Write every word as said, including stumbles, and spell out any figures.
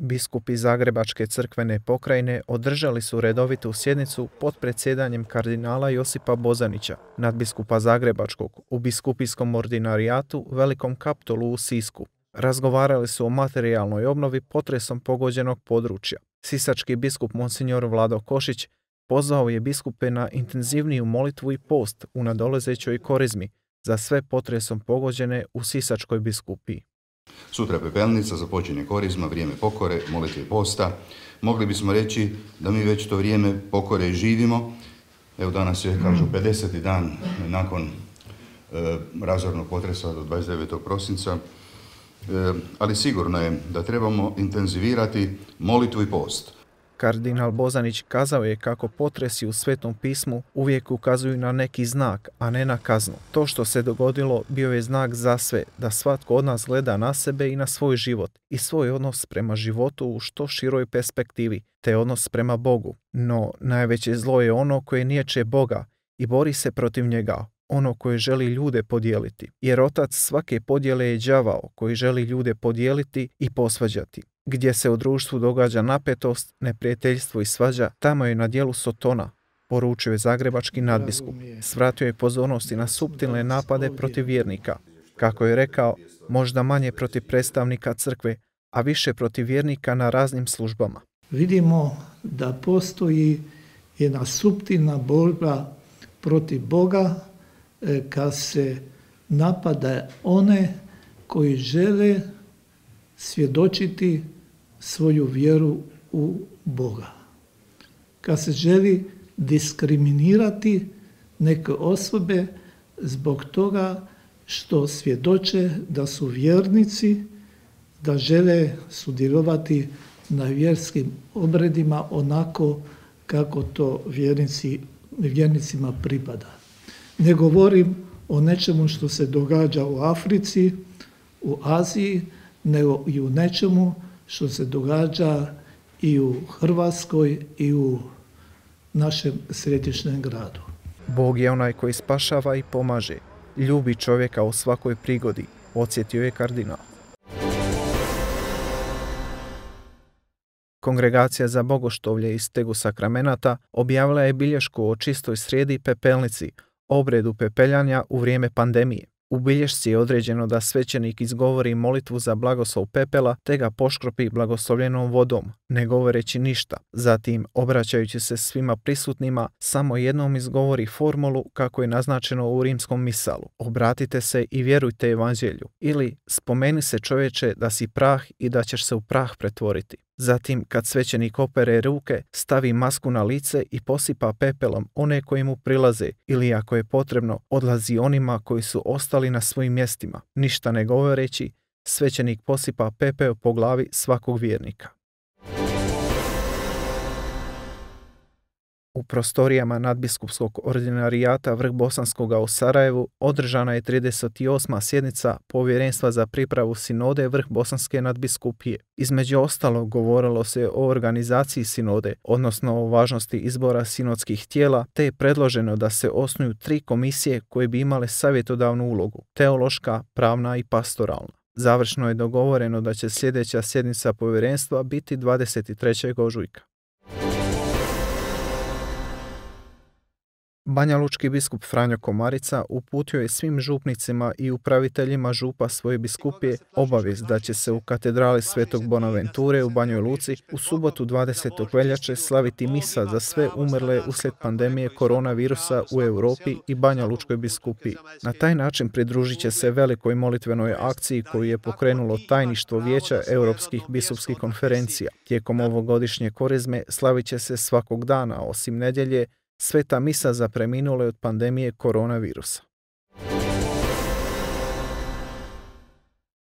Biskupi Zagrebačke crkvene pokrajine održali su redovitu sjednicu pod predsjedanjem kardinala Josipa Bozanića, nadbiskupa Zagrebačkog, u biskupijskom ordinarijatu Velikom Kaptolu u Sisku. Razgovarali su o materijalnoj obnovi potresom pogođenog područja. Sisački biskup Monsignor Vlado Košić pozvao je biskupe na intenzivniju molitvu i post u nadolazećoj korizmi za sve potresom pogođene u Sisačkoj biskupiji. Sutra pepelnica, započinje korizma, vrijeme pokore, molitve i posta. Mogli bismo reći da mi već to vrijeme pokore živimo. Evo danas je, kažu, pedeseti dan nakon e, razornog potresa do dvadeset devetog prosinca. E, ali sigurno je da trebamo intenzivirati molitvu i post. Kardinal Bozanić kazao je kako potresi u Svetom pismu uvijek ukazuju na neki znak, a ne na kaznu. To što se dogodilo bio je znak za sve, da svatko od nas gleda na sebe i na svoj život i svoj odnos prema životu u što široj perspektivi, te odnos prema Bogu. No, najveće zlo je ono koje niječe Boga i bori se protiv njega, ono koje želi ljude podijeliti. Jer otac svake podjele je đavao koji želi ljude podijeliti i posvađati. Gdje se u društvu događa napetost, neprijateljstvo i svađa, tamo je na djelu Sotona, poručio je zagrebački nadbiskup. Svratio je pozornosti na suptilne napade protiv vjernika. Kako je rekao, možda manje protiv predstavnika crkve, a više protiv vjernika na raznim službama. Vidimo da postoji jedna suptilna borba protiv Boga kad se napada one koji žele svjedočiti svoju vjeru u Boga. Kad se želi diskriminirati neke osobe zbog toga što svjedoče da su vjernici, da žele sudjelovati na vjerskim obredima onako kako to vjernici, vjernicima pripada. Ne govorim o nečemu što se događa u Africi, u Aziji, nego i u nečemu što se događa i u Hrvatskoj i u našem središnjem gradu. Bog je onaj koji spašava i pomaže. Ljubi čovjeka u svakoj prigodi, podsjetio je kardinal. Kongregacija za bogoštovlje iz Stegu sakramenata objavila je bilješku o čistoj srijedi i pepelnici, obredu pepeljanja u vrijeme pandemije. U bilješci je određeno da svećenik izgovori molitvu za blagoslov pepela te ga poškropi blagoslovljenom vodom, ne govoreći ništa. Zatim, obraćajući se svima prisutnima, samo jednom izgovori formulu kako je naznačeno u rimskom misalu. Obratite se i vjerujte evanđelju. Ili spomeni se čovječe da si prah i da ćeš se u prah pretvoriti. Zatim, kad svećenik opere ruke, stavi masku na lice i posipa pepelom one koji mu prilaze ili, ako je potrebno, odlazi onima koji su ostali na svojim mjestima. Ništa ne govoreći, svećenik posipa pepeo po glavi svakog vjernika. U prostorijama nadbiskupskog ordinarijata Vrh Bosanskoga u Sarajevu održana je trideset osma sjednica Povjerenstva za pripravu sinode Vrh Bosanske nadbiskupije. Između ostalog govorilo se o organizaciji sinode, odnosno o važnosti izbora sinodskih tijela, te je predloženo da se osnuju tri komisije koje bi imale savjetodavnu ulogu, teološka, pravna i pastoralna. Završno je dogovoreno da će sljedeća sjednica povjerenstva biti dvadeset trećeg ožujka. Banjalučki biskup Franjo Komarica uputio je svim župnicima i upraviteljima župa svoje biskupije obavijest da će se u katedrali Svetog Bonaventure u Banjoj Luci u subotu dvadesetog veljače slaviti misa za sve umrle uslijed pandemije koronavirusa u Europi i Banjalučkoj biskupiji. Na taj način pridružit će se velikoj molitvenoj akciji koju je pokrenulo tajništvo Vijeća Europskih biskupskih konferencija. Tijekom ovogodišnje korizme slavit će se svakog dana, osim nedjelje, sveta misa za preminule od pandemije koronavirusa.